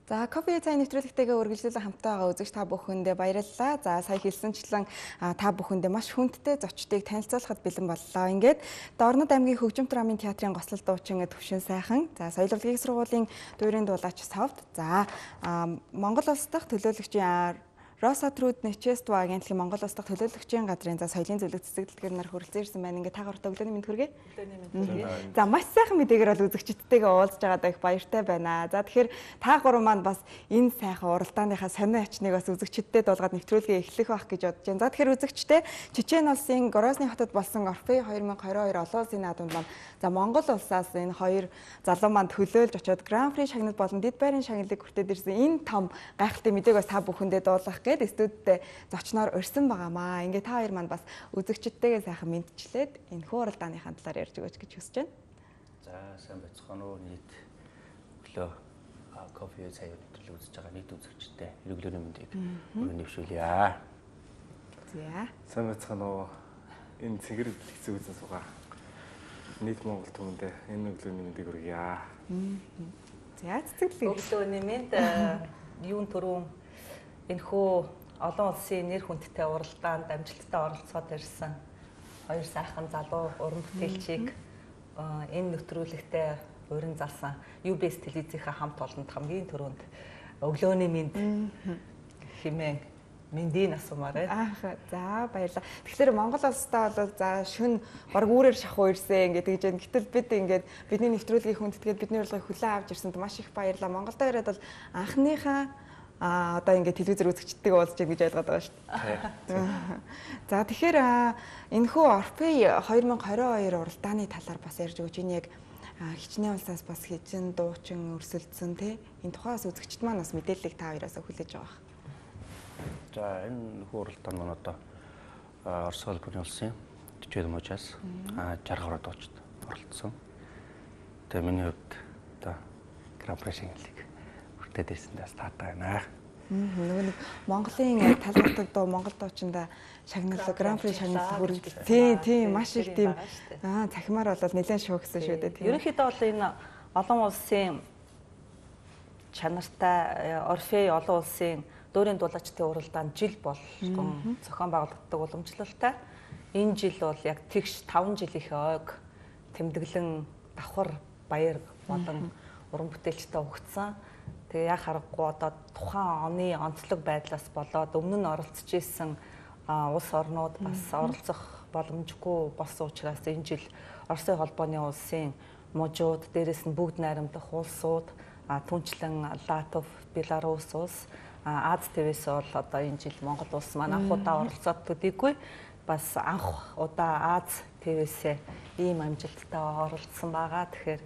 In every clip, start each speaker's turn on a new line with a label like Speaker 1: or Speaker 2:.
Speaker 1: За кофе цай нэвтрүүлэгтэйгээ үргэлжлүүлэн хамтаа байгаа үзэгч та бүхэндээ баярлалаа. За сая хэлсэнчлэн та бүхэндээ маш хүндтэй зочдыг танилцуулахад бэлэн боллоо. Ингээд Дорнод аймгийн Хөгжимтөр амын театрын гослол дуучин Төвшин сайхан. За соёл урлагийн сургуулийн дуурийн дуулаач Совд. За Монгол улс дахь төлөөлөгчийн Росатрууд Нэчества агентлагийн Монгол улс дахь төлөөлөгчийн газрын за соёлын зөвлөлт цэцэгдэлгээр нар хүрэлцэн ирсэн байна. Ингээд таагаар өглөөний мэнд хүргэе. За маш сайхан мэдээгээр бол үзэгчдтэйгээ уулзж байгаадаа их баяртай байна. За тэгэхээр та гурван маань бас энэ сайхан уралдааныхаа сонио ачныг бас үзэгчдтэй дуулгаад нэвтрүүлгээ эхлэх байх гэж бодож байна. За тэгэхээр үзэгчтэй Чечен улсын Грозный хотод болсон Орфей 2022 олон улсын наадамд маань за Монгол улсаас энэ хоёр залуу маань төлөөлж очоод Гран При шагнал болон дэд байрын шагналыг хүртээд ирсэн энэ том гайхалтай мэдээг бас та бүхэндээ дуулгах гээд студидтэй зочноор урьсан байгаамаа. Ингээ та хоёр маань бас үзэгчдтэйгээ сайхан мэдчлээд энэ хууралдааныхаа талаар ярьж өгөөч гэж хүсэж байна.
Speaker 2: За сайн байцгаана уу нийт өглөө кофе цай өдрөл үзэж байгаа нийт үзэгчтэй өглөөний мэндийг өргөн нэвшүүлье.
Speaker 1: За
Speaker 3: сайн байцгаана уу энэ цэгэр хэцүү үзэн суугаа нийт Монгол түмэндээ энэ өглөөний мэндийг хүргье.
Speaker 1: За цэцэглээ.
Speaker 4: Өглөөний мэнд юун төрөө энэхүү олон улсын нэр хүндтэй уралдаанд амжилттай оролцоод ирсэн хоёр сайхан залуу уран бүтээлчийг энэ нэвтрүүлэгтээ урин залсан UBS телевизийнхаа хамт олонд хамгийн түрүүнд өглөөний мэнд хэмээн мэндийн асуумаар байна.
Speaker 1: За баярлалаа. Тэгэхээр Монгол улстай бол за шүн баг үүрээр шахуу ирсэн ингээд тэгж байна. Гэтэл бид ингээд бидний нэвтрүүлгийн хүндэтгээд бидний урилгыг хүлээн авч ирсэнд маш их баярлалаа. Монголд ирээд бол анхныхаа одоо ингээд телевизээр үзэгчдтэйгээ уулзж гэж ойлгоод байгаа шүү дээ. За тэгэхээр энэхүү Орфей 2022 уралдааны талаар бас ярьж өгч энэ яг хичнээн улсаас бас хижин дуучин өрсөлдсөн тий энэ тухайс үзэгчд маань бас мэдээллийг та хоёроос хүлээж байгаа.
Speaker 2: За энэ уралдаанд маань одоо Орос улсын улсын 40 мужаас 60 гаруй дуучид оролцсон. Тэгээ миний хувьд одоо Гран При шагналыг хүртээд ирсэндээ таатай байна.
Speaker 1: Нөгөө нэг Монголын талбарт дуу Монгол дуучиндаа шагнал Гран При шагнал хүргэж тийм маш их тийм цахимаар бол нэлээд шоу гэсэн шүү дээ.
Speaker 4: Ерөнхийдөө бол энэ олон улсын чанартай Орфей олон улсын дуурийн дуулаачдын уралдаанд жил болгон зохион байгуулагддаг уламжлалтай. Энэ жил бол яг тэгш 5 жилийнхээ ойг тэмдэглэн давхар баяр болон уран бүтээлчтэй өгсөн. Тэгээ яг харахгүй одоо тухайн оны онцлог байдлаас болоод өмнө нь оролцож исэн улс орнууд бас оролцох боломжгүй болсон учраас энэ жил Оросын холбооны улсын мужууд, дээрэс нь бүгд найрамдах улсууд, түнчлэн Латв, Беларусь улс, Аз ТВ-с бол одоо энэ жил Монгол улс маань анх удаа оролцоод төдийгүй бас анх удаа Аз ТВ-с ийм амжилттай оролцсон байгаа. Тэгэхээр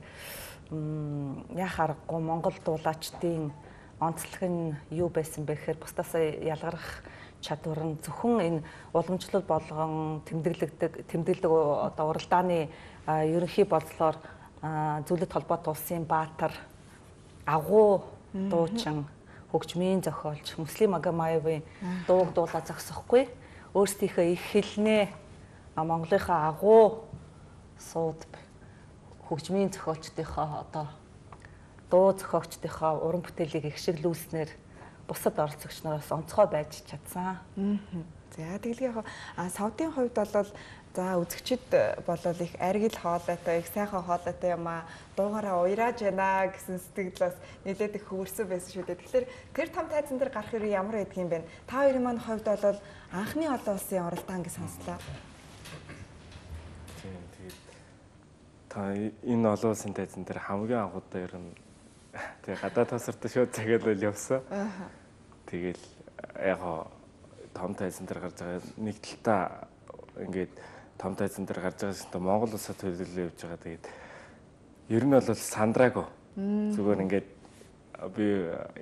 Speaker 4: яг харахгүй Монгол дуулаачдын онцлог нь юу байсан бэ гэхээр бусдаас ялгарах чадвар нь зөвхөн энэ уламжлал болгон тэмдэглэдэг одоо уралдааны ерөнхий болцлоор зөвлөлт холбоот улсын баатар агуу дуучин хөгжмийн зохиолч Муслим Магомаевын дууг дуулаа зогсохгүй өөрсдийнхөө их хэлнээ Монголынхаа агуу сууд хөгжмийн зохиолчдынхоо одоо дуу зохиогчдынхоо уран бүтээлийг ихшиглүүлснээр бусад оролцогч нараас онцгой байж чадсан.
Speaker 1: За тэгэлгүй яг савдын хувьд бол за үзэгчд болол их аргил хоолойтой, их сайхан хоолойтой юм дуугаараа уйрааж байна гэсэн сэтгэл бас нэлээд их хөвөрсөн байсан шүү дээ. Тэгэхээр тэр том тайзан дээр гарах хэрэг ямар байдаг юм бэ? Та хоёрын маань хувьд бол анхны олон улсын оролдоон гэж сонслоо.
Speaker 3: Та энэ олон улсын тайзан дээр хамгийн анх удаа ер нь тэгээ гадаад тасарт шууд цагаал явсан. Тэгэл яг том тайзан дээр гарч байгаа нэг талтаа ингээд том тайзан дээр гарч байгаа шин Монгол улсаа төлөөлөө явж байгаа. Тэгээд ер нь бол сандраагүй. Зүгээр ингээд би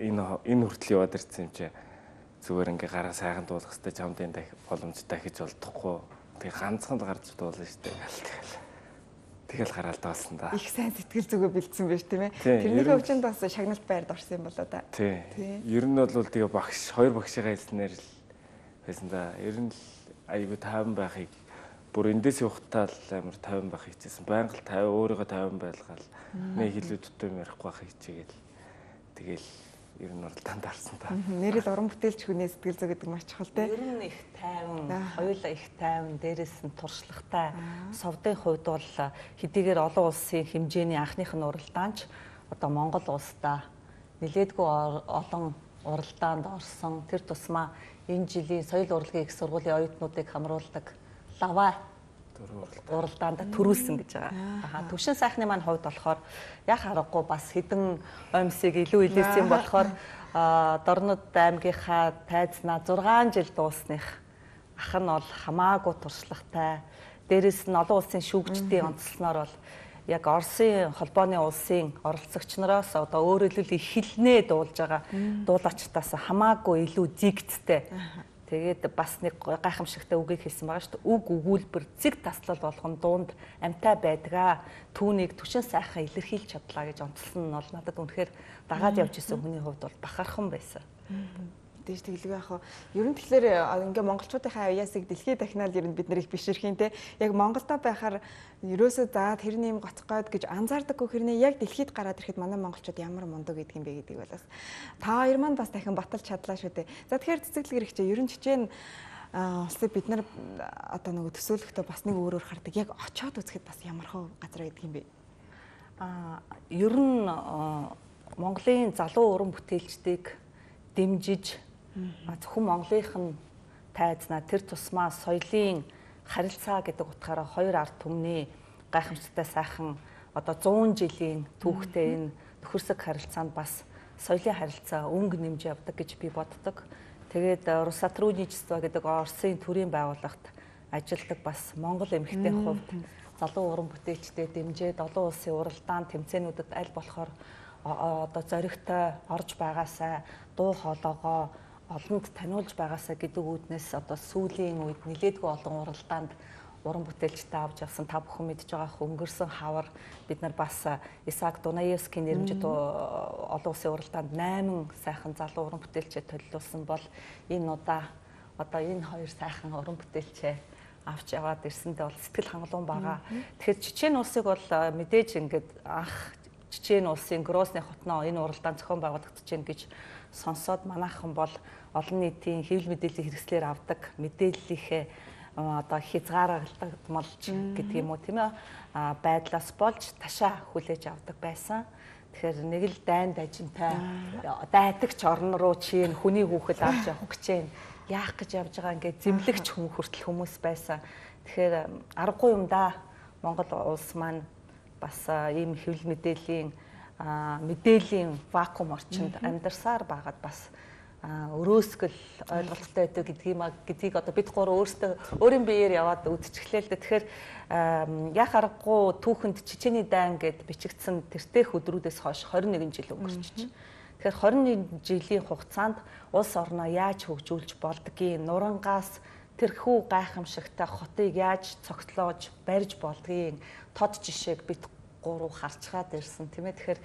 Speaker 3: энэ хүртэл яваад ирсэн юм чи зүгээр ингээд гараа сайхан дуулах хэрэгтэй чамдын боломж дахиж олдохгүй. Тэгээ ганцхан гарч дуулна шүү дээ. Тэгэл гараал даасан да.
Speaker 1: Их сайн сэтгэл зүгөө бэлдсэн байж тийм ээ. Тэрний хөвчөнд бас шагналт байрд орсон юм болоо да.
Speaker 3: Тий. Ер нь бол тэгээ багш хоёр багшигаа хэлснээр л байсан да. Ер нь л айгүй тайван байхыг бүр эндээс явахтаа л амар тайван байх хичээсэн. Байнга л тайван өөрийгөө тайван байлгаал. Нэг хилүүдтэй ярихгүй байх хичээгээл. Тэгэл ер нь уралдаанд орсон та.
Speaker 1: Нэрэл уран бүтээлч хүний сэтгэл зүй гэдэг маш чухал те.
Speaker 4: Ер нь их тайван, хоёулаа их тайван, дээрээс нь туршлагатай. Совдын хувьд бол хэдийгээр олон улсын хэмжээний анхных нь уралдаанч одоо Монгол улсдаа нэлээдгүй олон уралдаанд орсон. Тэр тусмаа энэ жилийн соёл урлагийн их сургуулийн оюутнуудыг хамруулдаг лава уралдаанд төрүүлсэн гэж байгаа. Төвшин сайхны маань хувьд болохоор яг харахгүй бас хэдэн оймсыг илүү илэрсэн болохоор Дорнод аймгийнхаа тайзнаа 6 жил дуусных ах нь бол хамаагүй туршлагатай. Дээрээс нь олон улсын шүүгчдийн онцлсноор бол яг Оросын холбооны улсын оролцогч нараас одоо өөрөөр хэлбэл их хэлнээ дуулж байгаа дуулаачтаас хамаагүй илүү дигттэй. Тэгээд бас нэг гайхамшигтай үгийг хэлсэн байгаа шүү дээ. Үг өгүүлбэр зэг таслал болгон дуунд амтай байдгаа. Түүнийг түшин сайхан илэрхийлж чадлаа гэж онцлсон нь бол надад үнэхээр дагаад явж исэн хүний хувьд бол бахархан байсан.
Speaker 1: Дэж тэглэг яах вэ? Ер нь тэгэхээр ингээ монголчуудынхаа аяасыг дэлхийд дахинаад ер нь бид нэр их бишэрхийн те. Яг Монголдо байхаар ерөөсөө за тэрний юм гоцгоод гэж анзаардаггүй хэрнээ яг дэлхийд гараад ирэхэд манай монголчууд ямар мундаг гэдэг юм бэ гэдэг болоос та хоёр маань бас дахин баталж чадлаа шүү дээ. За тэгэхээр цэцэглэг хэрэгчээ ер нь жижиг улсыг бид нар одоо нөгөө төсөөлөхдөө бас нэг өөрөөр хардаг. Яг очиод үзэхэд бас ямар хөө газар байдаг юм бэ?
Speaker 4: Ер нь Монголын залуу уран бүтээлчдийг дэмжиж зөвхөн Монголынх нь тайзнаа тэр тусмаа соёлын харилцаа гэдэг утгаараа хоёр ард түмний гайхамшигтай сайхан одоо 100 жилийн түүхтэй энэ нөхөрсөг харилцаанд бас соёлын харилцаа өнгө нэмж явдаг гэж би боддог. Тэгээд Росатрудничество гэдэг Оросын төрийн байгууллагт ажилладаг бас Монгол эмэгтэйн хувьд залуу уран бүтээлчдэд дэмжиж олон улсын уралдаан тэмцээнүүдэд аль болохоор одоо зоригтой орж байгаасаа дуу хоолойгоо олонд таниулж байгаасаа гэдэг үүднээс одоо сүүлийн үед нэлээдгүй олон уралдаанд уран бүтээлчтэй авч явсан та бүхэн мэдж байгаа өнгөрсөн хавар бид нар бас Исаак Дунаевскийн нэрмжит олон улсын уралдаанд 8 сайхан залуу уран бүтээлчээ төлөвлөсөн бол энэ удаа одоо энэ хоёр сайхан уран бүтээлчээ авч яваад ирсэндээ бол сэтгэл хангалуун байгаа. Тэгэхээр Чечен улсыг бол мэдээж ингээд анх Чечен улсын Грозны хотноо энэ уралдаан зохион байгуулагдаж байна гэж сонсоод манайхан бол олон нийтийн хэвлэл мэдээллийн хэрэгслээр авдаг мэдээллийнхээ одоо хязгаарлагдмалж гэдэг юм уу тийм ээ байдлаас болж ташаа хүлээж авдаг байсан. Тэгэхээр нэг л дайн дажинтай дайдагч орн руу чинь хүний хүүхэд авч явах гэж байна. Яах гэж явж байгаа ингээд зэмлэгч хүн хүртэл хүмүүс байсан. Тэгэхээр аргагүй юм да. Монгол улс маань бас ийм хэвлэл мэдээллийн вакуум орчинд амьдарсаар байгаад бас өрөөсгөл ойлголттой байдаг гэдгийг одоо бид гурав өөрсдөө өөрийн биеэр яваад үдчихлээ л дээ. Тэгэхээр яг аргагүй түүхэнд Чечений дайн гэд бичигдсэн тэртех өдрүүдээс хойш 21 жил өнгөрчихж. Тэгэхээр 21 жилийн хугацаанд улс орноо яаж хөгжүүлж болдгийг, нурангаас тэрхүү гайхамшигтай хотыг яаж цогцлоож барьж болдгийг тод жишээг бид гурав харцгаад ирсэн тийм ээ. Тэгэхээр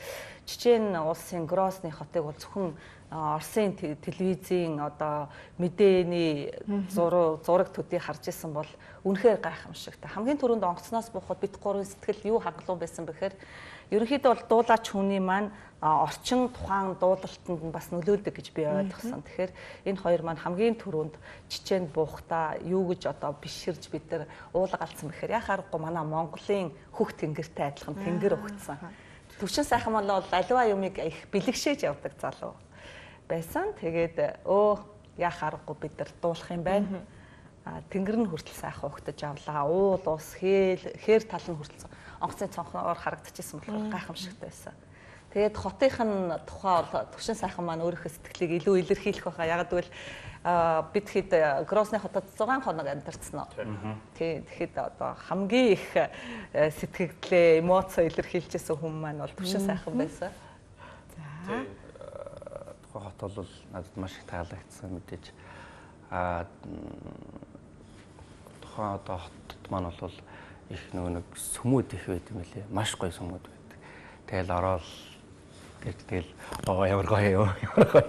Speaker 4: Чечен улсын Грозны хотыг бол зөвхөн Оросын телевизийн одоо мэдээний зураг төдий харж исэн бол үнэхээр гайхамшигтай. Хамгийн түрүүнд онгоцноос буухад бид гурвын сэтгэл юу хангалуун байсан бэхээр ерөнхийдөө бол дуулаач хүний маань орчин тухайн дуулалтанд нь бас нөлөөлдөг гэж би ойлгосон. Тэгэхээр энэ хоёр маань хамгийн түрүүнд Чеченд буухтаа юу гэж одоо биширж бид нар уулга алдсан бэхээр яг харахгүй манай Монголын хөх тэнгэртэй адилхан тэнгэр өгцсөн. Төвшин сайхан маань бол аливаа юмыг их бэлэгшээж явдаг залуу байсан. Тэгээд яг харахгүй бид нар дуулах юм байна. Тэнгэр нь хүртэл сайхан ухтаж авлаа. Уул ус хээр тал нь хүртэл онгоцны цонхоор харагдчихсан болохоор гайхамшигтай байсан. Тэгээд хотынхын тухай бол төвшин сайхан маань өөрийнхөө сэтгэлийг илүү илэрхийлэх байхаа. Яг гэвэл бид хэд Грозны хотод 6 хоног амьдарсан уу. Тэгэхэд одоо хамгийн их сэтгэлээ, эмоцоо илэрхийлжсэн хүн маань бол төвшин сайхан байсан.
Speaker 1: За.
Speaker 2: Тухайн хот бол надад маш их таалагдсан мэдээж. Тухайн одоо хотод маань бол их нэг сүмүүд их байт юм лээ. Маш гоё сүмүүд байдаг. Тэгэл ороод тэгэл ямар гоё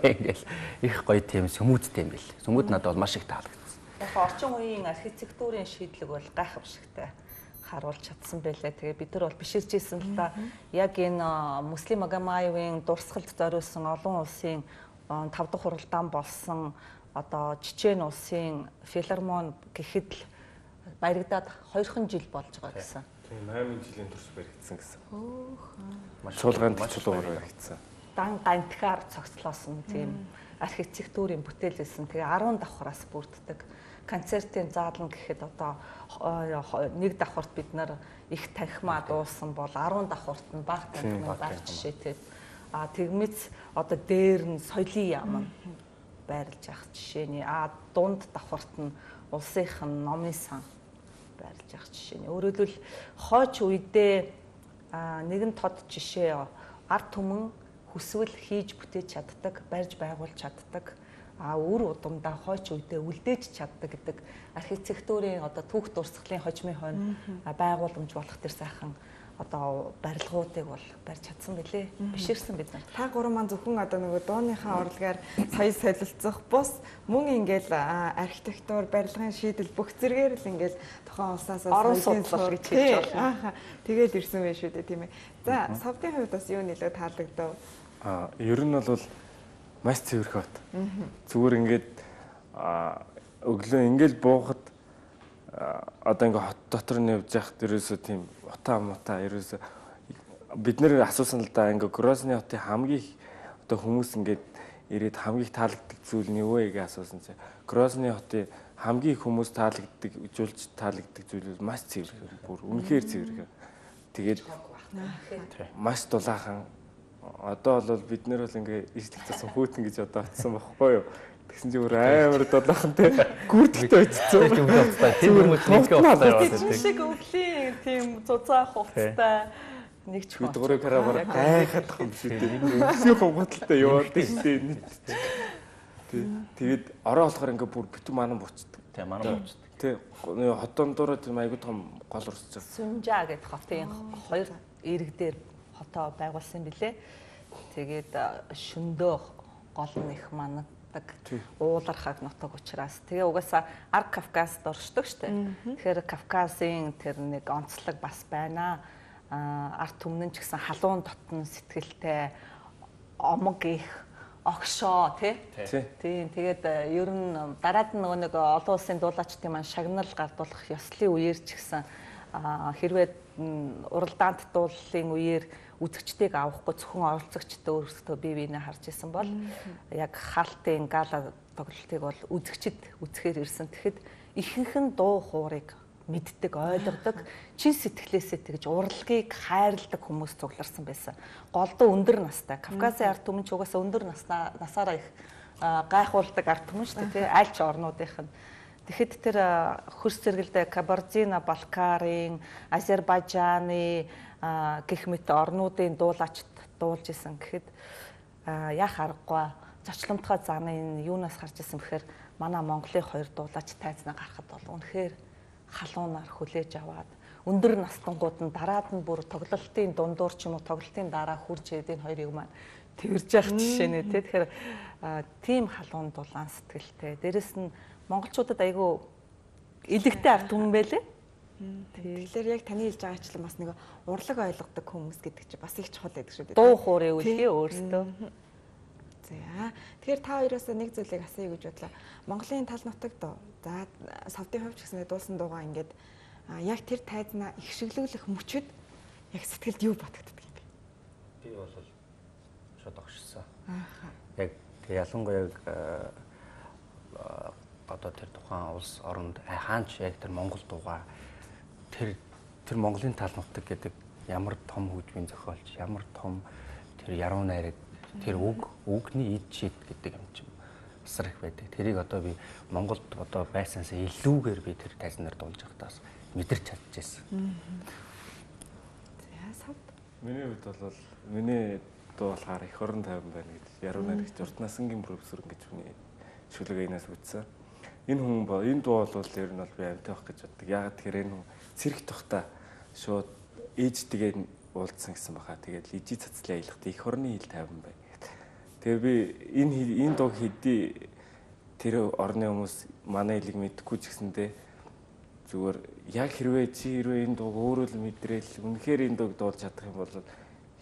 Speaker 2: ингээл их гоё тийм сүмүүдтэй юм бэл. Сүмүүд надад бол маш их таалагдсан.
Speaker 4: Яг орчин үеийн архитектурын шийдлэг бол гайхамшигтай. харуулж чадсан байлаа. Тэгээ бид нар бол биширчээсэн л да. Яг энэ Муслим Магомаевын дурсгалд зориулсан олон улсын 5 дахь хуралдаан болсон одоо Чечен улсын филармон гэхэд л баригдаад 2хан жил болж байгаа гэсэн.
Speaker 3: Тийм 8 жилийн турш баригдсан гэсэн. Чуулганд чулуугаар баригдсан.
Speaker 4: Дан гантгаар цогцлоосон тийм архитектурын бүтээл байсан. Тэгээ 10 давхраас бүрддэг. Концертын заалан гэхэд одоо нэг давхарт бид нар их танхимаа дуулсан бол 10 давхарт нь баг танхимаа баг жишээтэй. Тэгмэц одоо дээр нь соёлын яам байрлаж явах жишээний. Дунд давхарт нь улсынхан номын сан байрлаж явах жишээний. Өөрөөр хэлбэл хойч үедээ нэгэн тод жишээ ард түмэн хүсвэл хийж бүтээж чаддаг, барьж байгуулж чаддаг, үр удамдаа хойч үедээ үлдээж чаддаг гэдэг архитектурын одоо түүх дурсгалын хожмын хойно байгууламж болох тэр сайхан одоо барилгуудыг бол барьж чадсан билээ. Биширсэн бид нар.
Speaker 1: Та гурван маань зөвхөн одоо нөгөө дууныхаа урлагаар соёл солилцох бус мөн ингээл архитектур, барилгын шийдэл бүх зэргээр л ингээл тухайн улсаас
Speaker 4: орон судлал гэж хэлж байна.
Speaker 1: Тэгээд ирсэн байх шүү дээ тийм ээ. За, Совдын хувьд бас юу нэлээд таалагдав?
Speaker 3: Ер нь бол маш цэвэрх бат. Зүгээр ингээд өглөө ингээл буухад одоо ингээ хот дотор нь явж яхад ерөөсөө тийм утаа ерөөсөө бид нэр асуусан л да ингээ Грозны хотын хамгийн одоо хүмүүс ингээд ирээд хамгийн таалагддаг зүйл нь юу вэ гэж асуусан чинь Грозны хотын хамгийн хүмүүс таалагддаг, үзүүлж таалагддаг зүйл маш цэвэр бүр үнэхээр цэвэр. Тэгээд маш дулаахан. Одоо бол бид нэр бол ингээ ижлэх засан хүүтэн гэж одоо атсан байхгүй юу? Тэгсэн чинь өөр амар дулаахантай гүрдэлтэй очсон.
Speaker 2: Тэр хүмүүс нэггээ уцаа яваад
Speaker 4: байдаг. Шиг өвлийн тийм зузаах хувцастай нэг ч
Speaker 3: бид гурыг хараагаар гайхаад байгаа юм шүү дээ. Өвсний хомготолтой яваад дээ. Тэгээд ороо болохоор ингээ бүр битүү манан буцдаг.
Speaker 2: Тийм манан буцдаг.
Speaker 3: Тэ хотон дураа тийм айгуу том гол урсцсан.
Speaker 4: Сүнжаа гэдэг хотын 2 эрэг дээр хотоо байгуулсан билээ. Тэгээд шөндөө гол нь их мандаг уулархаг нутаг учраас тэгээ угаасаа Арг Кавказд оршдог штэ. Тэгэхээр Кавказын тэр нэг онцлог бас байна. Ард түмэн ч гэсэн халуун дотн сэтгэлтэй омог их огшоо тийм. Тэгээд ер нь дараад нь нэг олон улсын дуулаачдын маань шагнал гардуулах ёслолын үеэр ч гэсэн хэрвээ уралдаанд дуулалын үеэр үзэгчдийг авахгүй зөвхөн оролцогчдод өөрсдөө бие биенээ харж исэн бол яг хаалтын гала тоглолтыг бол үзэгчд үзэхээр ирсэн. Тэгэхэд ихэнх нь дуу хуурыг мэддэг, ойлгодог, чин сэтгэлээсээ тэгж урлагийг хайрладаг хүмүүс цугларсан байсан. Голдуу өндөр настай. Кавказын ард түмэн ч угаасаа өндөр насаараа их гайхуулдаг ард түмэн шүү дээ, аль ч орнуудынх нь. Тэгэхэд тэр хөрс зэрэгэлдээ Кабардино-Балкарын, Азербайджаны гэх мэт орнуудын дуулаачд дуулж исэн гэхэд яах аргагүй зочломтгой заны юунаас гарч исэн бэхээр манай Монголын 2 дуулаач тайзнаа гарахад бол үнэхээр халуунаар хүлээж аваад өндөр настангууд нь дараад нь бүр тоглолтын дундуур ч юм уу тоглолтын дараа хурж ирээд энэ хоёрыг маань тэрж явах жишээ нэ тэгэхээр тийм халуун дулаан сэтгэлтэй. Дээрэс нь монголчуудад айгүй илэгтэй ард түмэн байлээ. Тэгэхээр яг таны хэлж байгаачлан бас нэг урлаг ойлгодог хүмүүс гэдэг чинь бас их чухал байдаг шүү дээ. Дуу хуурын үлгий өөртөө.
Speaker 1: За. Тэгэхээр та хоёроос нэг зүйлийг асууя гэж бодлоо. Монголын тал нутагт за Совдын хувьд ч гэсэн дуулсан дуугаа ингээд яг тэр тайзнаа их шиглүүлэх мөчөд яг сэтгэлд юу бодогддог юм бэ?
Speaker 2: Би бол шууд огшсон. Яг ялангуяа одоо тэр тухайн улс оронд хаанч яг тэр Монгол дуугаа тэр Монголын тал нутаг гэдэг ямар том хөгжмийн зохиолч, ямар том тэр яруу найраг, тэр үгний эд шид гэдэг юм чинь асар их байдаг. Тэрийг одоо би Монголд одоо байсаасаа илүүгээр би тэр тайзнаар дуулж байхдаа мэдэрч чадчихсан.
Speaker 1: За савд.
Speaker 3: Миний хувьд бол миний дуу болохоор их орон тайван байна гэж яруу найрагч Уртнасангийн профессор гэж хүний шүлэг энэс үтсэн. Энэ дуу бол ер нь бол би амьтаа байх гэж боддог. Яагаад тэгэхээр энэ хүн цэрэг тухта шууд ээжтэйгээ уулзсан гэсэн баха. Тэгээд ижи цацлын аялахт их орны хил тайван бай. Тэгээ би энэ дуу хэдий тэр орны хүмүүс манай хэлийг мэдхгүй ч гэсэндээ зүгээр яг хэрвээ энэ дууг өөрөө л мэдрээл үнэхээр энэ дууг дуулж чадах юм бол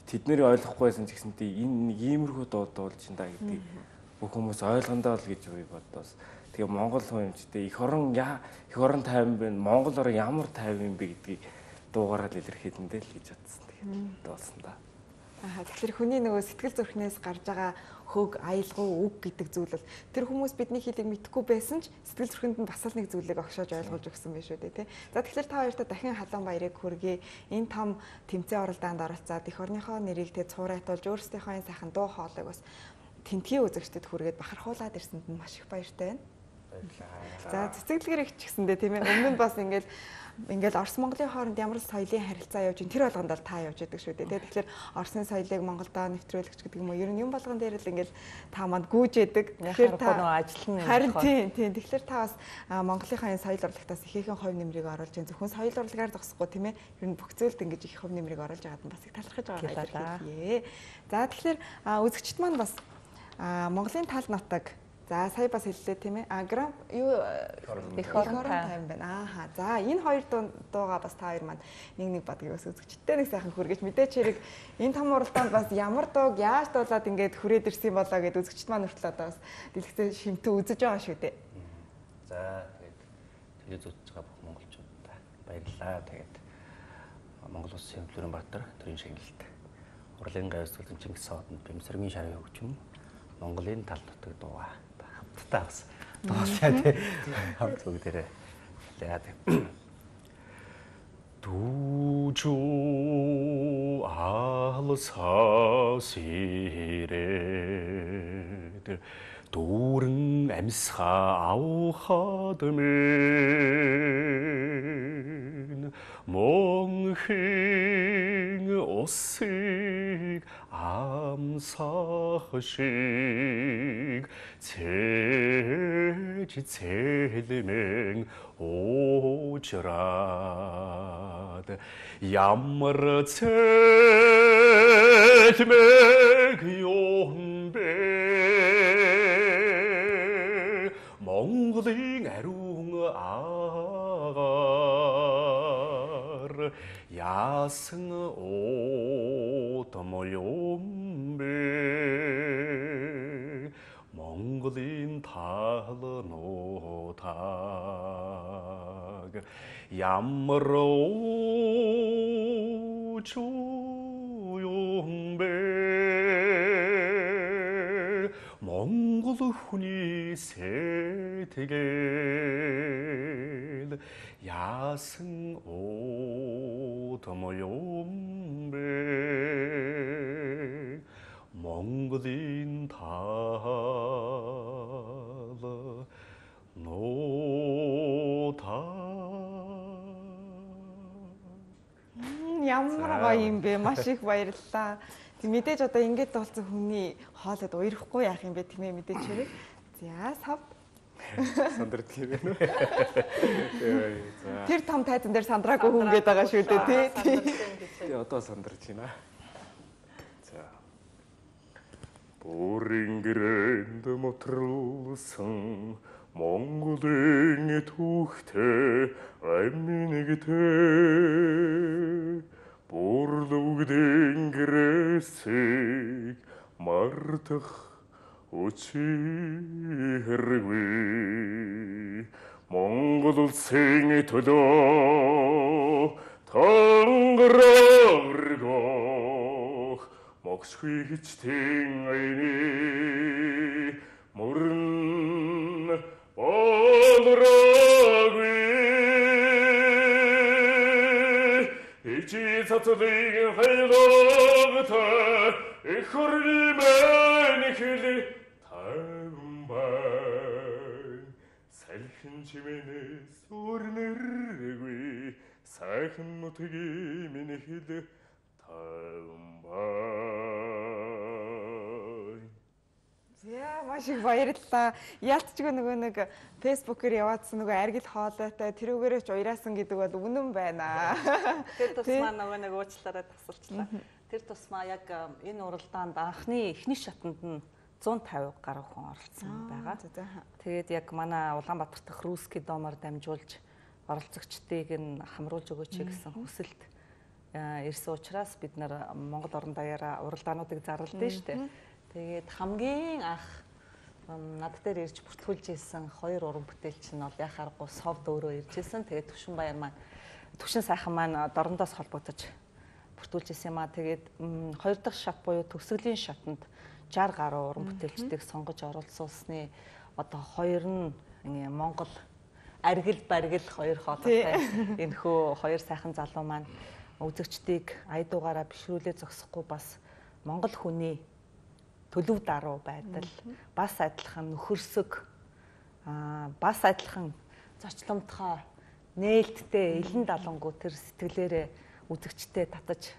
Speaker 3: тэднэрийг ойлгохгүйсэн ч гэсэнтэй энэ нэг иймэрхүү дуу дуулж ин да гэдгийг бүх хүмүүс ойлгондоо л гэж би бодоос. Тэгээ Монгол хүн юмчтэй их орон тайван байна. Монгол орон ямар тайван юм бэ гэдгийг дуугаараа л илэрхийлэндээ л гэж бодсон. Тэгээд дуулсан да.
Speaker 1: Тэгэхээр хүний нөгөө сэтгэл зүрхнээс гарч байгаа хөг, аялгау, үг гэдэг зүйл бол тэр хүмүүс бидний хэлийг мэдэхгүй байсан ч сэтгэл зүрхэнд нь бас л нэг зүйлийг огшоож ойлгуулж өгсөн байх шүү дээ, тий. За тэгэхээр та хоёртаа дахин халуун баярыг хүргэе. Энэ том тэмцээн оролдоонд оролцоод эх орныхоо нэрийг тэ цуурайтуулж өөрсдийнхөө энэ сайхан дуу хоолойг бас тэнтгийн үзэгчдэд хүргээд бахархуулаад ирсэнд нь маш их баяртай байна. За цэцэглэгэр их ч гэсэндээ тийм ээ. Өмнө нь бас ингээл Орос Монголын хооронд ямар соёлын харилцаа явж ин тэр болгонд л та явж байдаг шүү дээ. Тэгэхээр Оросны соёлыг Монголдо нэвтрүүлэгч гэдэг юм уу. Ер нь юм болгон дээр л ингээл та манд гүйж яадаг. Тэгэхээр та
Speaker 4: ажил нь
Speaker 1: харин тийм. Тэгэхээр та бас Монголынхаа энэ соёл урлагтаас ихээхэн хувь нэмрийг оруулж ин зөвхөн соёл урлагаар зогсохгүй тийм ээ. Ер нь бүх зүйлд ингэж их хувь нэмрийг оруулж байгаад нь бас их талархаж байгаа юм. За тэгэхээр үзэгчд маань бас Монголын тал нутаг. За сая бас хэллээ тийм ээ. Грам юу их орон тайван байна. За энэ хоёр дууга бас та хоёр маань нэг бадгийг бас үзэгчдтэй нэг сайхан хүргэж мэдээч хэрэг энэ том уралдаанд бас ямар дууг яаж дуулаад ингээд хүрээд ирсэн болоо гэд үзэгчд маань хүртэл одоо бас дэлгэцээ шимтээ үзэж байгаа шүү дээ.
Speaker 2: За тэгээд үзэж байгаа бүх монголчуудаа баярлалаа. Тэгээд Монгол Улсын Florianбаатар төрийн шагналт урлын гайвс төлөв Чингис сааданд бэмсэргийн шарын хөгжим Монголын тал нутаг дууга хамтдаа бас дуулаа тий хамт бүгдээрээ яа 두주 알사시레 도릉 엠사 아우하드멘 몽행 오식 암사식 제지체리맹 오지라 야머러 첼맥 용배 몽글링 애룽 아가르 야승 오더모용배 몽글린 달노닥 야머러 조용배 몽골 훈이 세대겔 야승 오더모용배 몽골인 달노닥
Speaker 1: Ямар гоё юм бэ? Маш их баярлалаа. Тэг мэдээж одоо ингэж дуулсан хүний хоолойд уярахгүй яах юм бэ тийм ээ мэдээж хэрэг. За сав.
Speaker 3: Сандрт юм байна.
Speaker 1: Тэр том тайзан дээр сандраагүй хүн гээд байгаа шүү дээ тий.
Speaker 3: Тэгээ одоо сандарч байна. За. Бүрингэрэнд мотролсон Монголын түүхтэй аминэгтэй Бүрлүгдэн гэрээсийг мартах үчиргүй Монгол улсын төлөө тангарагох могсгүй хичтэн айны мөрн болроггүй ичи цацлыг хайлогтой эх орнымэн хэл тавбай салхин чимэнэс өрнөргүй сайхан нутгийн минь хэл тавбай.
Speaker 1: Яа маш их баярлалаа. Яалтчгүй нөгөө нэг фэйсбүүкээр яваадсан нөгөө аргил хоолойтой тэрүүгээрээ ч уяраасан гэдэг бол үнэн байна.
Speaker 4: Тэр тусмаа нөгөө нэг уучлаарай тасалчлаа. Тэр тусмаа яг энэ уралдаанд анхны эхний шатанд нь 150 гаруй хүн оролцсон байгаа. Тэгээд яг манай Улаанбаатар дахь русский домоор дамжуулж оролцогчдыг нь хамруулж өгөөч гэсэн хүсэлт ирсэн учраас бид нар Монгол орон даяараа уралдаануудыг зарлалдээ шүү дээ. Тэгээд хамгийн анх над дээр ирж бүртгүүлж ирсэн 2 уран бүтээлч нь бол яхааргүй совд өөрөө ирж ирсэн. Тэгээд Түвшин сайхан маань дорндоос холбогдож бүртгүүлж ирсэн юм аа. Тэгээд 2 дахь шат буюу төгсгөлийн шатанд 60 гаруй уран бүтээлчдийг сонгож оролцуулсны одоо 2 нь Монгол аргил баргил 2 хоолойтой энэхүү 2 сайхан залуу маань үзэгчдийг айдуугаараа бишрүүлээ зогсохгүй бас Монгол хүний төлөв даруй байдал бас адилхан нөхөрсөг бас адилхан зочломтгой нээлттэй элен далангуу тэр сэтгэлээрээ үзэгчтэй татаж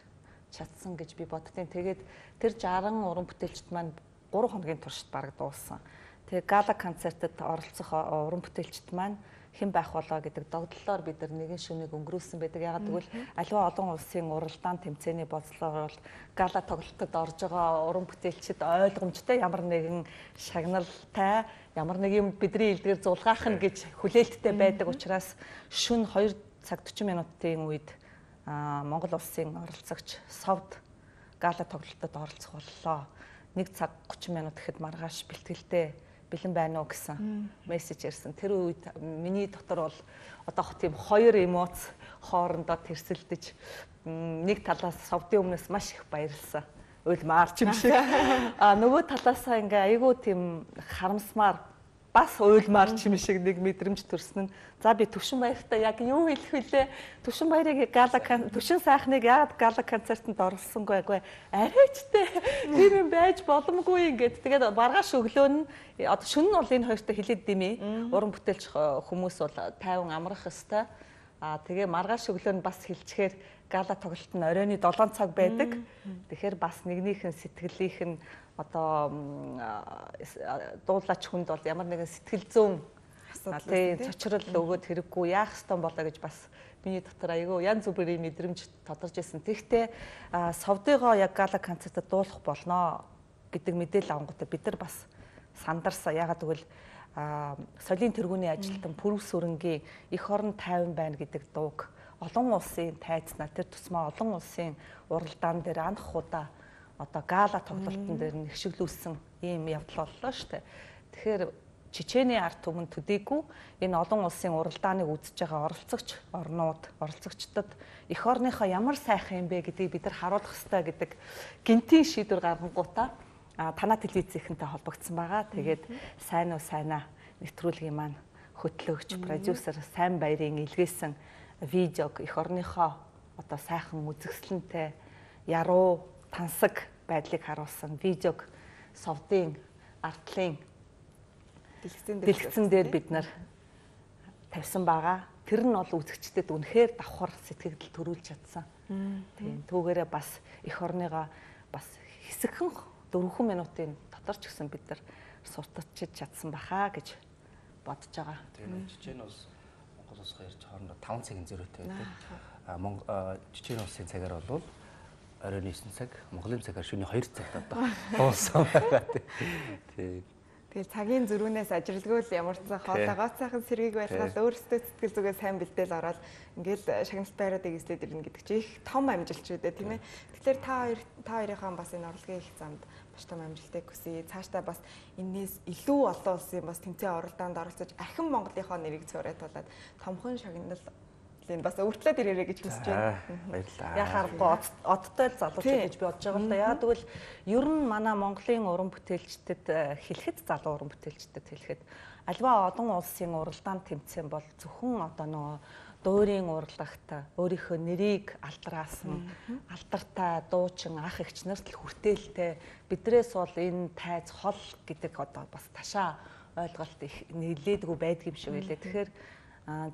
Speaker 4: чадсан гэж би боддیں۔ Тэгээд тэр 60 уран бүтээлчд маань 3 хоногийн туршид бараг дууссан. Тэгээд гала концертод оролцох уран бүтээлчд маань хэн байх болоо гэдэг догдлолоор бид нар нэгэн шөнөийг өнгөрүүлсэн байдаг. Ягаад гэвэл аливаа олон улсын уралдаан тэмцээний бодлогоор бол гала тоглолтод орж байгаа уран бүтээлчид ойлгомжтой ямар нэгэн шагналтай ямар нэг юм бидний илдгээр зулгаах нь гэж хүлээлттэй байдаг учраас шөнө 2 цаг 40 минутын үед Монгол улсын оролцогч совд гала тоглолтод оролцох боллоо. 1 цаг 30 минут гэхэд маргааш бэлтгэлтэй бэлэн байна уу гэсэн мессеж ирсэн. Тэр үед миний дотор бол одоо тийм 2 эмоц хоорондоо тэрсэлдэж нэг талаас совдын өмнөөс маш их баярлсан. Уйлмаарч юм шиг. Нөгөө талаасаа ингээ айгүй тийм харамсмаар бас уйлмаарч юм шиг нэг мэдрэмж төрсөн нь за би Түвшин баяртай яг юу хэлэх вүлээ? Түвшин баярыг Түвшин сайхныг яагаад гала концертанд оролцсонгүй агүй арайчтэй тийм юм байж боломгүй ингээд тэгээд маргааш өглөө нь одоо шөнө нь бол энэ хоёртой хилээд димээ уран бүтээлч хүмүүс бол тайван амрах ёстой. Тэгээ маргааш өглөө нь бас хилчгээр гала тоглолт нь оройны 7 цаг байдаг. Тэгэхээр бас нэгнийхэн сэтгэлийнх нь одоо дуулаач хүнд бол ямар нэгэн сэтгэл зүйн асуудал цочрол өгөөд хэрэггүй яах ёстой болоо гэж бас миний дотор айгүй янз бүрийн мэдрэмж тодорж ирсэн. Тэгэхдээ совдыгоо яг гала концертод дуулах болноо гэдэг мэдээлэл авангуудаа бид нар бас сандарсан. Ягаад гэвэл солийн тэргүүний ажилтан Пүрв сүрэнгийн эх орон тайван байна гэдэг дууг олон улсын тайзнаа тэр тусмаа олон улсын уралдаан дээр анх удаа одоо гала тоглолтын дээр нэгшиглүүлсэн ийм явдал боллоо шүү дээ. Тэгэхээр Чечений ард түмэн төдийгүй энэ олон улсын уралдааныг үзэж байгаа оролцогч орнууд оролцогчдод эх орныхоо ямар сайхан юм бэ гэдгийг бид нар харуулах ёстой гэдэг гинтийн шийдвэр гаргангуудаа танаа телевизийнхэнтэй холбогдсон байгаа. Тэгээд сайн уу сайнаа нэвтрүүлгийн маань хөтлөгч продюсер Сайн Баярын илгээсэн видеог эх орныхоо одоо сайхан үзэсгэлэнтэй яруу тансаг байдлыг харуулсан видеог совдын артлын дэлгэцэн дээр бид нар тавьсан байгаа. Тэр нь бол үзэгчдэд үнэхээр давхар сэтгэл төрүүлж чадсан. Тийм түүгээрээ бас эх орныгоо бас хэсэгхэн 4 минутын дотор ч гэсэн бид нар сурталчиж чадсан бахаа гэж бодож байгаа.
Speaker 2: Тийм Чечен улс Монгол улсгаа ирж хоорондоо 5 цагийн зөрүүтэй байдаг. Чечен улсын цагаар бол оройн 9 цаг, Монголын цагаар шөнийн 2 цагт одоо уулсан байгаа. Тийм.
Speaker 1: Тэгээд цагийн зөрүүнээс ажиглгүй л ямар ч хоолойгоо цаахан сэргийг байлгаад өөрсдөө сэтгэл зүгээ сайн бэлдээл ороод ингээл шагналт байруудыг эзлээд ирнэ гэдэг чинь их том амжилт шүү дээ, тийм ээ. Тэгэхээр та хоёрынхаа бас энэ орлогын их замд маш том амжилтыг хүсье. Цаашдаа бас энэс илүү олон улсын бас тэмцээн оролдоонд оролцож архин Монголынхоо нэрийг цорайтуулаад томхон шагнал бас өвтлөөд ирээрэй гэж хүсэж байна.
Speaker 2: Баярлалаа.
Speaker 4: Яхаарахгүй одтой л залууч гэж би бодож байгаа л да. Яа тэгвэл ер нь манай Монголын уран бүтээлчдэд хэлэхэд залуу уран бүтээлчдэд хэлэхэд альва олон улсын уралдаан тэмцээн бол зөвхөн одоо нөгөө дуурийн урлагт өөрийнхөө нэрийг алдраасан алдартай дуучин ах эгч нарт л хүртээлтэй бидрээс бол энэ тайз хол гэдэг одоо бас ташаа ойлголт их нэлээдгүй байдаг юм шиг байлээ. Тэгэхээр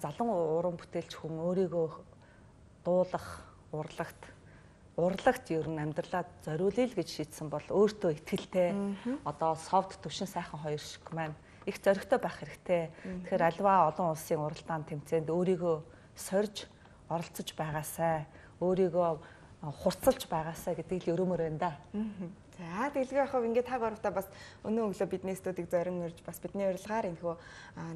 Speaker 4: залан уран бүтээлч хүн өөрийгөө дуулах урлагт ер нь амьдралаа зориулъя л гэж шийдсэн бол өөртөө итгэлтэй одоо совд Түвшин сайхан хоёр шиг маань их зоригтой байх хэрэгтэй. Тэгэхээр альва олон улсын уралдаан тэмцээнд өөрийгөө сорж оролцож байгаасай. Өөрийгөө хурцлж байгаасаа гэдгийг л өрөөмөр байна да.
Speaker 1: За тэгэлгүй яхав ингээд та гуравтаа бас өнөө өглөө бидний студийг зорин ирж бас бидний урилгаар энэхүү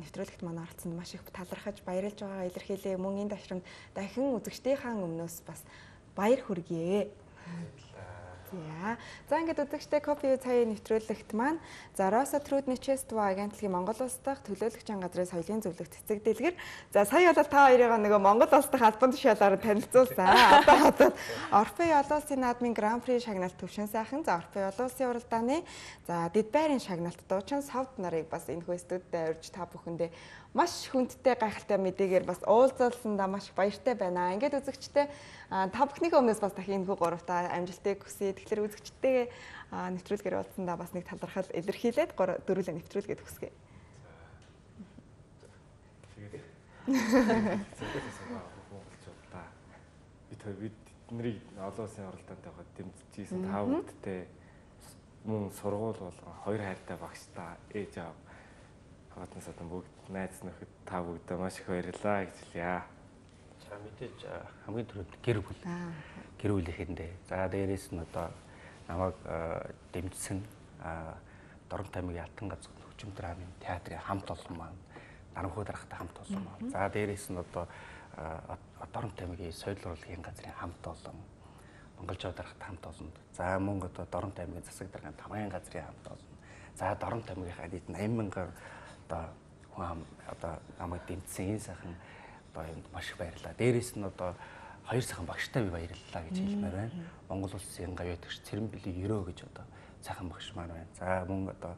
Speaker 1: нэвтрүүлэгт манай оролцсонд маш их талархаж баярлж байгаагаа илэрхийлээ. Мөн энэ ташрамд дахин үзэгчдийнхээ өмнөөс бас баяр хүргэе. За ингээд үзэгчтэй Copy цагийн нэвтрүүлэгт маань Rosa Trudnichество агентлагийн Монгол улс дахь төлөөлөгчийн газрын соёлын зөвлөх цэцэг дэлгэр. За сая бол та хоёрыг нөгөө Монгол улс дахь албан тушаалаар танилцуулсан. Одоо Орфей олон улсын наадмын Гран При шагналт төвшин сайхан, за Орфей олон улсын уралдааны за Дэд байрын шагналт дуучин Совд нарыг бас энэхүү студид урьж та бүхэндээ маш хүндтэй гайхалтай мэдээгээр бас уулзалсандаа маш баяртай байна. Ингээд үзэгчтэй та бүхнийхээ өмнөөс бас дахин энэхүү гуравтаа амжилтыг хүсье. Тэгэхээр үзэгчтэйгээ нэвтрүүлгээр уулзсандаа бас нэг талархал илэрхийлээд дөрүлээ нэвтрүүлгээд хүсгэе.
Speaker 3: Бид нарыг олон улсын оролдоонд яваад дэмжижсэн та бүхэдтэй мөн сургууль болгон хоёр хайртай багштай ээж аав хаваатнаас одоо бүгд найз нөхөд та бүгдээ маш их баярлалаа гэж хэлье.
Speaker 2: За мэдээж хамгийн түрүүнд гэр бүлийнхэндээ за дээрээс нь одоо намайг дэмжсэн Дорн таймгийн Алтан газар хөгжим драмын театрын хамт олон маань Наранхуу дарахтай хамт олон маань за дээрээс нь одоо Дорн таймгийн соёл урлагийн газрын хамт олон Монголжоо дарахтай хамт олон за мөн одоо Дорн таймгийн засаг даргын тамгын газрын хамт олон за Дорн таймгийнхаа нийт 80,000 одоо намайг дэмжсэн энэ сайхан одоо энд маш их баярлалаа. Дээрээс нь одоо хоёр сайхан багштай би баярлалаа гэж хэлмээр байна. Монгол улсын гавьяатагч Цэрэнбэлийн Ерөө гэж одоо сайхан багш маань байна. За мөн одоо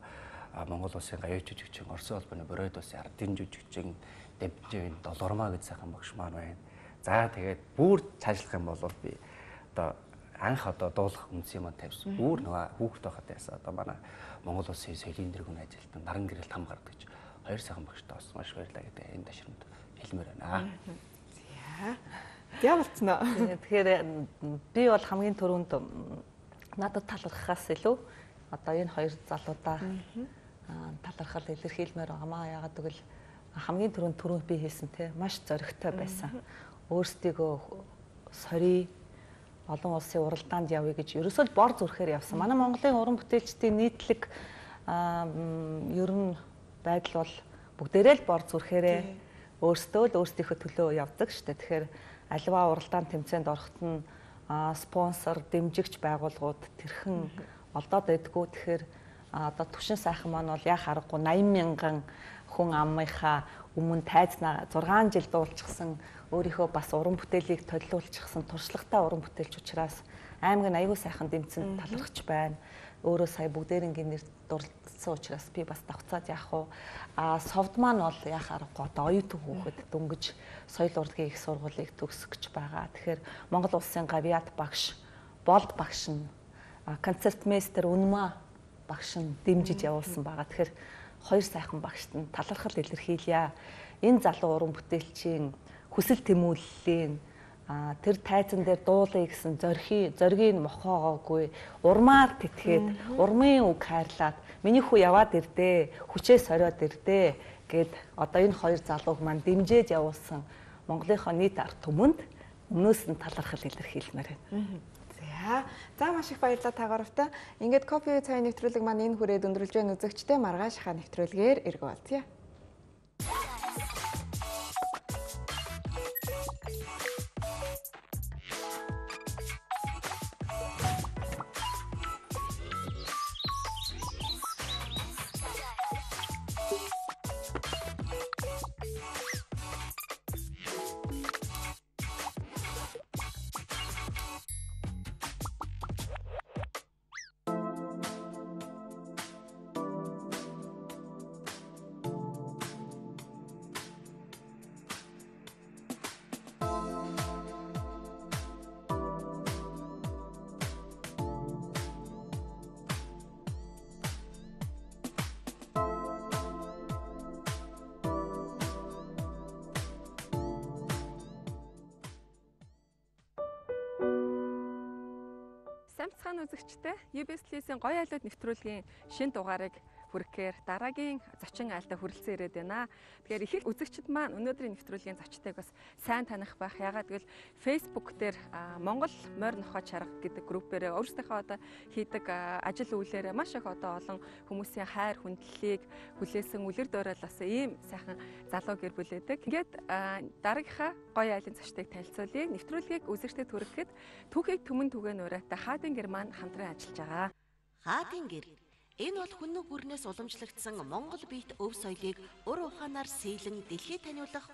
Speaker 2: Монгол улсын гавьяа жүжигчин Орсын холбооны Боройд улсын ардын жүжигчин Дэвжийн Долормаа гэж сайхан багш маань байна. За тэгээд бүр цаашлах юм бол би одоо анх одоо дуулах үндэс юм тавьсан. Бүр нөгөө хүүхэд байхад ясаа одоо манай Монгол улсын соёлын дэргэм ажилтан Наран гэрэл там гардаг гэж хоёр сайхан багштай бас маш баярлалаа гэдэг энэ ташрамд хэлмээр байна.
Speaker 1: За болцноо.
Speaker 4: Тэгэхээр би бол хамгийн түрүүнд надад талархахаас илүү одоо энэ хоёр залуудаа талархал илэрхийлмээр байгаамаа. Яагаад гэвэл хамгийн түрүүнд би хэлсэн те маш зоригтой байсан. Өөрсдийгөө сорий олон улсын уралдаанд явъя гэж ерөөсөө бор зүрхээр явсан. Манай Монголын уран бүтээлчдийн нийтлэг ер нь байдал бол бүгдээрээ л бор зүрхээрээ өөрсдөө л өөрсдийнхөө төлөө явдаг шүү дээ. Тэгэхээр аливаа уралдаан тэмцээнд орохт нь спонсор, дэмжигч байгууллагууд тэрхэн олдоод байдгүй. Тэгэхээр одоо түвшин сайхан маань бол яа харахгүй 80,000 хүн амынхаа өмнө тайзнаа 6 жил дуулчихсан өөрийнхөө бас уран бүтээлийг төлөвлөлчихсэн туршлагатай уран бүтээлч учраас аймаг нь аягүй сайхан дэмцэн талархаж байна. Өөрөө сая бүгдээрингийн нэр дурлцсан учраас би бас давцаад яах вэ? Совд маань бол яах аргагүй одоо оюутан хүүхэд дөнгөж соёл урлагийн их сургуулийг төгсөх гэж байгаа. Тэгэхээр Монгол улсын гавьяат багш, болд багш нь концертмейстер Үнмаа багш нь дэмжиж явуулсан байгаа. Тэгэхээр хоёр сайхан багшд нь талархал илэрхийлье. Энэ залуу уран бүтээлчийн хүсэл тэмүүллийн тэр тайзан дээр дуулъя гэсэн зоригийг мохоогоогүй урмаар тэтгээд урмын үг хайрлаад миний хүү яваад ирдээ хүчээ сориод ирдээ гэд одоо энэ хоёр залууг маань дэмжиж явуулсан Монголынхоо нийт ард түмэнд өмнөөс нь талархал илэрхийлмээр байна.
Speaker 1: За маш их баярлалаа та гуравтаа. Ингээд Copy цагийн нэвтрүүлэг маань энэ хүрээд өндөрлж байна. Үзэгчтэй маргааш хаа нэвтрүүлгээр эргүү болцъё.
Speaker 5: Сайн бацхан үзэгчтэй UBS-ийн гоё айлууд нэвтрүүлгийн шинэ дугаарыг хүрэхээр дараагийн зочин айлдаа хүрэлцэн ирээд байна. Тэгэхээр их үзэгчид маань өнөөдрийн нэвтрүүлгийн зочдыг бас сайн таних байх. Ягаад гэвэл Facebook дээр Монгол морь нохой чарга гэдэг группээр өөрсдийнхөө одоо хийдэг ажил үйлээрээ маш их одоо олон хүмүүсийн хайр хүндлэлийг хүлээсэн үлэр дуурайлсан ийм сайхан залуу гэр бүл байдаг. Ингээд дараагийнхаа гоё айлын зочдыг танилцуулъя. Нэвтрүүлгийг үзэгчдэд хүрэхэд түүхийг түмэн түгэн ураатай Хаадын гэр маань хамтран ажиллаж байгаа.
Speaker 6: Хаадын гэр. Энэ бол хүннү гүрнээс уламжлагдсан Монгол биет өв соёлыг ур ухаанаар сэлэн дэлхийд таниулах